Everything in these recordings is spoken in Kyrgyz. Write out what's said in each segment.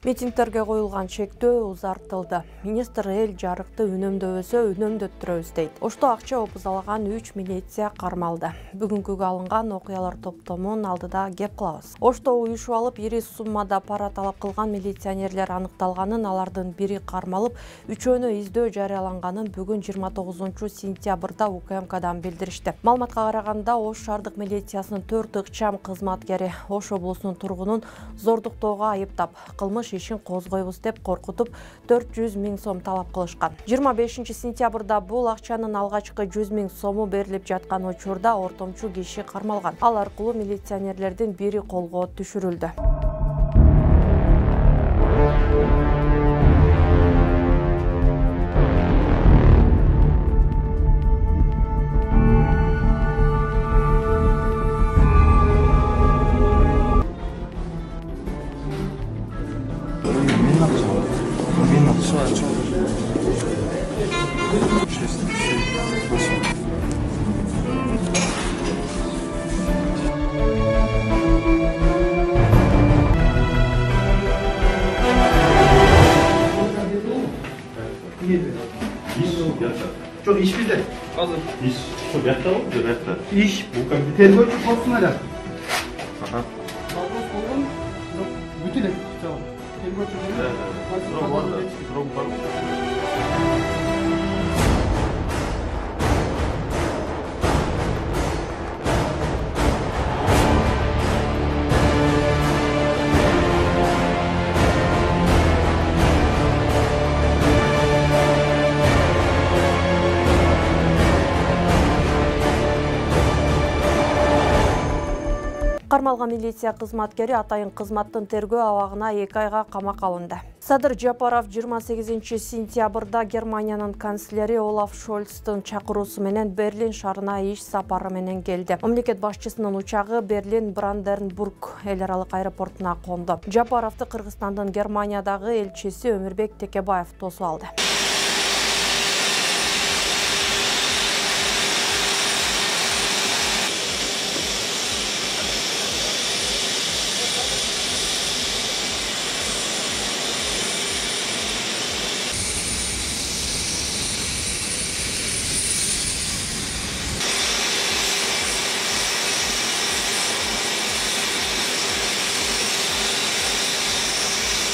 Митингтерге коюлган чектөө узартылды. Министр эл жарыкты үнөмдөбөсө үнөмдөттүрөбүз дейт. Ошто акча опузалаган 3 милиция кармалды. Бүгүнкүгө алынган окуялар топтомунун алдыда кеп кылабыз. Ошто уюшуп алып, ири суммада пара талап кылган милиционерлер аныкталганын, алардын бири кармалып, үчөөнө издөө жарыяланганын бүгүн 29 сентябрда УКМКдан билдиришти. Маалыматка караганда, Ош шаардык милициясынын 4 ыкчам кызматкери Ош облусунун тургунун зордуктоого айыптап, кылмыш ишин козгойбуз деп коркутуп 400 000 сом талап кылышкан. 25 сентябрда бул акчанын алгачкы 100 000 сому берилип жаткан учурда ортомчу киши кармалган. Ал аркылуу милиционерлердин бири колго түшүрүлдү. Çok iş bizde. Hazır. İş şu yakta mı? Yakta. İş. Bu kadar. Tergörçü olsun hala. Aha. Kalbos olun. Bütün et. Tamam. Tergörçü olun. Evet. Durum var da. Durum var. Кармалган милиция кызматкери атайын кызматтын тергөө абагына 2 айга камакка алынды. Садыр Жапаров 28 сентябрда Германиянын канцлери Олаф Шольцтун чакыруусу менен Берлин шаарына иш сапары менен келди. Мамлекет башчысынын учагы Берлин Бранденбург эл аралык аэропортуна конду. Жапаровду Кыргызстандын Германиядагы элчиси Өмүрбек Текебаев тосуп алды.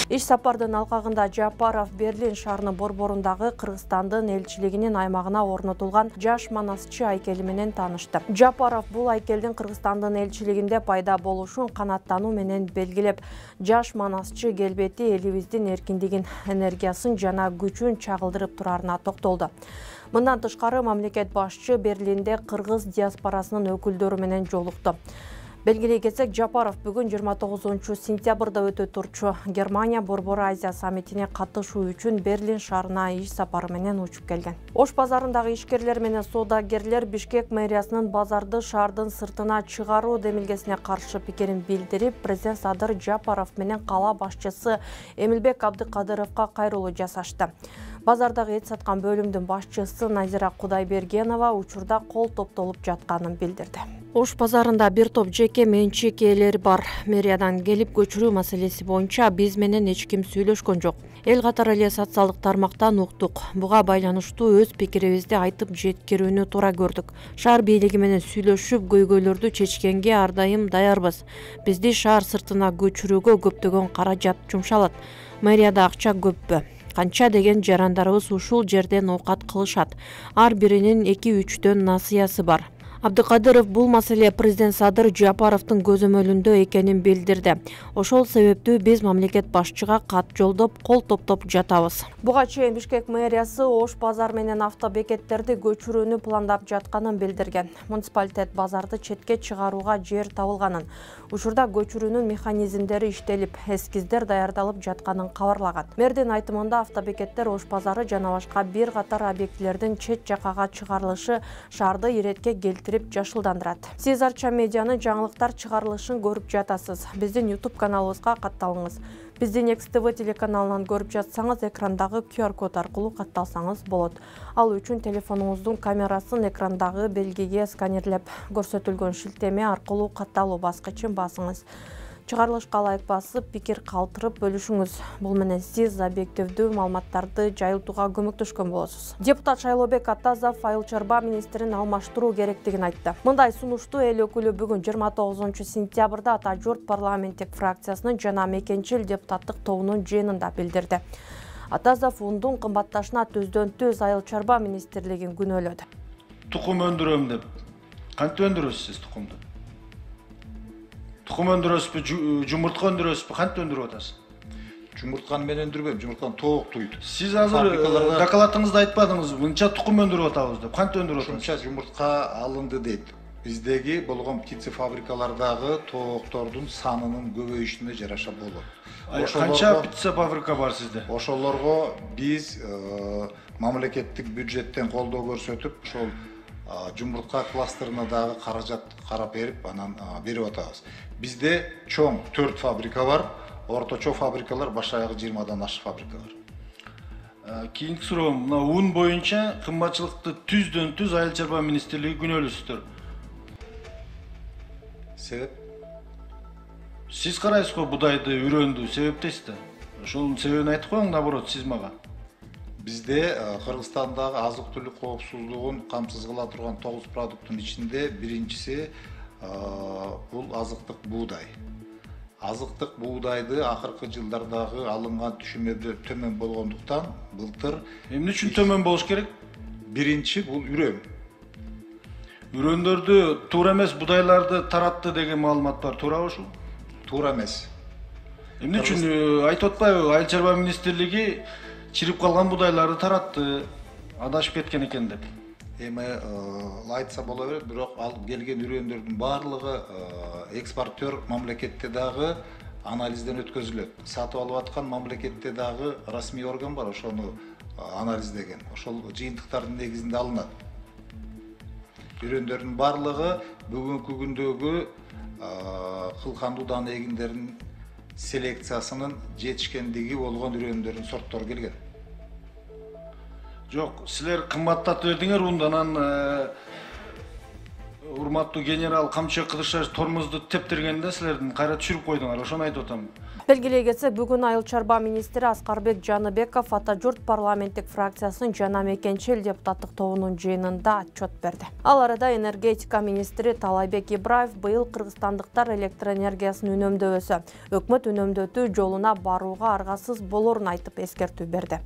Иш сапардын алкагында Жапаров Берлин шаарынын борборундагы Кыргызстандын элчилигинин аймагына орнотулган жаш манасчы айкели менен таанышты. Жапаров бул айкелдин Кыргызстандын элчилигинде пайда болушун канааттануу менен белгилеп, жаш манасчы келбети элибиздин эркиндигин, энергиясын жана күчүн чагылдырып турарына токтолду. Мындан тышкары мамлекет башчы Берлинде кыргыз диаспорасынын өкүлдөрү менен жолукту. Белгилей кетсек, Жапаров бүгүн 29 сентябрда өтө турчу Германия Борбор Азия саммитине катышуу үчүн Берлин шаарына иш сапары менен учуп келген. Ош базарындагы ишкерлер менен соодагерлер Бишкек мэриясынын базарды шаардын сыртына чыгаруу демилгесине каршы пикирин билдирип, президент Садыр Жапаров менен кала башчысы Эмилбек Абдыкадыровго кайрылуу жасашты. Базардагы эт саткан бөлүмдүн башчысы Назира Кудайбергенова учурда кол топтолуп жатканын билдирди. Ош базарында бир топ жеке менчик ээлери бар. Мэриядан келип көчүрүү маселеси боюнча биз менен эч ким сүйлөшкөн жок. Эл катары эле социалдык тармактан уктук. Буга байланыштуу өз пикирибизди айтып жеткирүүнү туура көрдүк. Шаар бийлиги менен сүйлөшүп, көйгөйлөрдү чечкенге ар дайым даярбыз. Бизди шаар сыртына көчүрүүгө көптөгөн каражат жумшалат. Мэрияда акча көппү? Канча деген жарандарыбыз ушул жерден оокат кылышат. Ар биринин 2-3төн насыясы бар. Абдыкадыров бул маселе президент Садыр Жапаровдун көзөмөлүндө экенин билдирди. Ошол себептүү биз мамлекет башчыга кат жолдоп, кол топтоп жатабыз. Буга чейин Бишкек мэриясы Ош базар менен автобекеттерди көчүрүүнү пландап жатканын билдирген. Муниципалитет базарды четке чыгарууга жер табылганын, учурда көчүрүүнүн механизмдери иштелип, эскиздер даярдалып жатканын кабарлаган. Мэрдин айтымында автобекеттер Ош базары жана башка бир катар объектилердин чет жакага чыгарылышы шаарды иретке келтирип жашылдандырат. Сиз Арча медианын жаңылыктар чыгарылышын көрүп жатасыз. Биздин YouTube каналыбызга катталыңыз. Бизди Next TV телеканалынан көрүп жатсаңыз, экрандагы QR код аркылуу катталсаңыз болот. Ал үчүн телефонуңуздун камерасын экрандагы белгиге сканерлеп, көрсөтүлгөн шилтеме аркылуу катталуу баскычын басыңыз. Чыгарылышка ылайык басып, пикир калтырып бөлүшүңүз. Бул менен сиз объективдүү маалыматтарды жайылтууга көмөктөшкөн болосуз. Депутат Шайлообек Атазов айыл чарба министрин алмаштыруу керектигин айтты. Мындай сунушту эл өкүлү бүгүн 29-сентябрда Ата журт парламенттик фракциясынын жана мекенчил депутаттык тобунун жыйынында билдирди. Атазов ундун кымбатташына түздөн-түз айыл чарба министрлигин күнөөлөдү. Тукум өндүрөм деп. Кантип өндүрөсүз сиз тукумду? Тукум өндүрөсүзбү, жумуртка өндүрөсүзбү, кантип өндүрүп атасыз? Жумуртканы мен өндүрбөйм, жумуртканы тоок туйт. Сиз азыр докладыңызда айтпадыңызбы, мынча тукум өндүрүп атабыз деп. Кантип өндүрүп атасыз? Ушунча жумуртка алынды дейт. Биздеги болгон птица фабрикалардагы тооктордун санынын көбөйүшүнө жараша болот. Канча птица фабрика бар сизде? Ошолорго биз мамлекеттик бюджеттен колдоо көрсөтүп, ошол жумуртка кластерына дагы каражат карап берип, анан берип атабыз. Бизде чоң 4 фабрика бар, орточо фабрикалар баш аягы 20дан ашык фабрика бар. Кийинки суроом, мына ун боюнча кымбатчылыкты түздөн-түз айыл чарба министрлиги күнөөлөйсүздөр. Себеп? Сиз карайсыз го будайды, үрөндү, себептейсиз да. Ошонун себебин айтып коюң, наоборот, сиз мага. Бизде Кыргызстандагы азык-түлүк коопсуздугун камсыз кыла турган 9 продукттун ичинде биринчиси бул азыктык буудай. Азыктык буудайды акыркы жылдардагы алынган түшүмдөр төмөн болгондуктан былтыр эмне үчүн төмөн болуш керек? Биринчи бул үрөм. Үрөндөрдү туура эмес будайларды таратты деген маалымат бар, туурабы ушул? Туура эмес. Эмне үчүн айтып атпайбы, айыл чарба министрлиги чирип калган будайларды таратты, адашып кеткен экен деп. Эми айтса боло берет, бирок алып келген үрөндөрдүн баардыгы экспортер мамлекетте дагы анализден өткөзүлөт. Сатып алып аткан мамлекетте дагы расмий орган бар, ошону анализдеген. Ошол жыйынтыктардын негизинде алынат. Үрөндөрдүн баардыгы бүгүнкү күндөгү кылкандуу даан эгиндеринин селекциясынын жетишкендиги болгон үрөндөрдүн сорттору келген. Жок, силер кымбаттатып бердиңер ундан, урматтуу генерал Камчы Кыдыршаев тормозду тептиргенде силердин кайра түшүрүп койдуңар, ошону айтып атам. Белгилей кетсек, бүгүн айыл чарба министри Аскарбек Жаныбеков Ата журт парламенттик фракциясынын жана мекенчил депутаттык тобунун жыйынында отчет берди. Ал арада энергетика министри Талайбек Ибраев быйыл кыргызстандыктар электр энергиясын үнөмдөбөсө, өкмөт үнөмдөтүү жолуна барууга аргасыз болорун айтып эскертүү берди.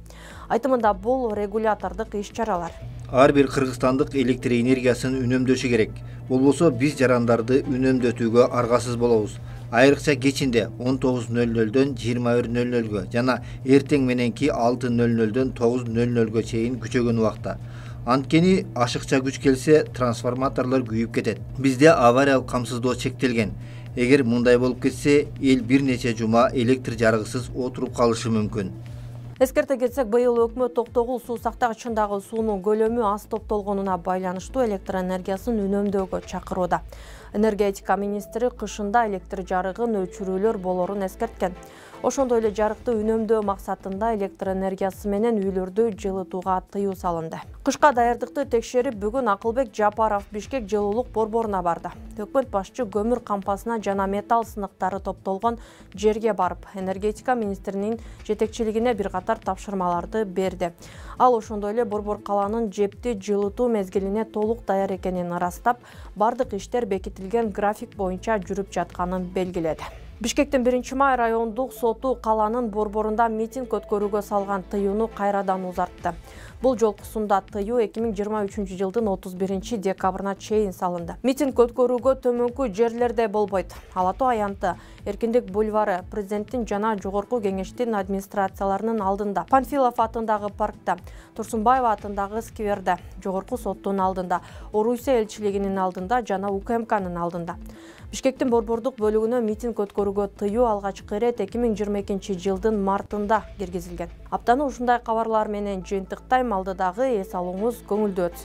Айтымында бул регулятордук иш-чаралар. Ар бир кыргызстандык электр энергиясын үнөмдөшү керек. Болбосо биз жарандарды үнөмдөтүүгө аргасыз болобуз. Айрыкча кечинде 19:00дөн 21:00гө жана эртең мененки 6:00дөн 9:00гө чейин күчөгөн убакта. Анткени ашыкча күч келсе, трансформаторлор күйүп кетет. Бизде авариялык камсыздоо чектелген. Эгер мындай болуп кетсе, эл бир нече жума электр жарыгысыз отуруп калышы мүмкүн. Эскерте кетсек, быйыл өкмөт Токтогул суу сактагычындагы суунун көлөмү аз топтолгонуна байланыштуу электр энергиясын үнөмдөөгө чакырууда. Энергетика министри кышында электр жарыгын өчүрүүлөр болорун эскерткен. Ошондой эле жарыкты үнөмдөө максатында электр энергиясы менен үйлөрдү жылытууга тыюу салынды. Кышка даярдыкты текшерип, бүгүн Акылбек Жапаров Бишкек жылуулук борборуна барды. Өкмөт башчы көмүр кампасына жана металл сыныктары топтолгон жерге барып, энергетика министринин жетекчилигине бир катар тапшырмаларды берди. Ал ошондой эле борбор калаанын жепти жылытуу мезгилине толук даяр экенин ырастап, бардык иштер бекитилген график боюнча жүрүп жатканын белгиледи. Бишкектин 1-май райондук соту калаанын борборунда митинг өткөрүүгө салган тыюуну кайрадан узартты. Бул жолкусунда тыюу 2023 жылдын 31 декабрына чейин салынды. Митинг өткөрүүгө төмөнкү жерлерде болбойт. Ала Тоо аянты, Эркиндик бульвары, президенттин жана жогорку кеңештин администрацияларынын алдында, Панфилов атындагы паркта, Турсунбаева атындагы скверде, жогорку соттун алдында, Орусия элчилигинин алдында жана УКМКнын алдында. Бишкектин борбордук бөлүгүнө митинг өткөрүүгө тыюу алгачкы ирет 2022 жылдын мартында киргизилген. Аптаны ушундай кабарлар менен жыйынтыктайм, алдыдагы эс алууңуз көңүлдүү өтсүн.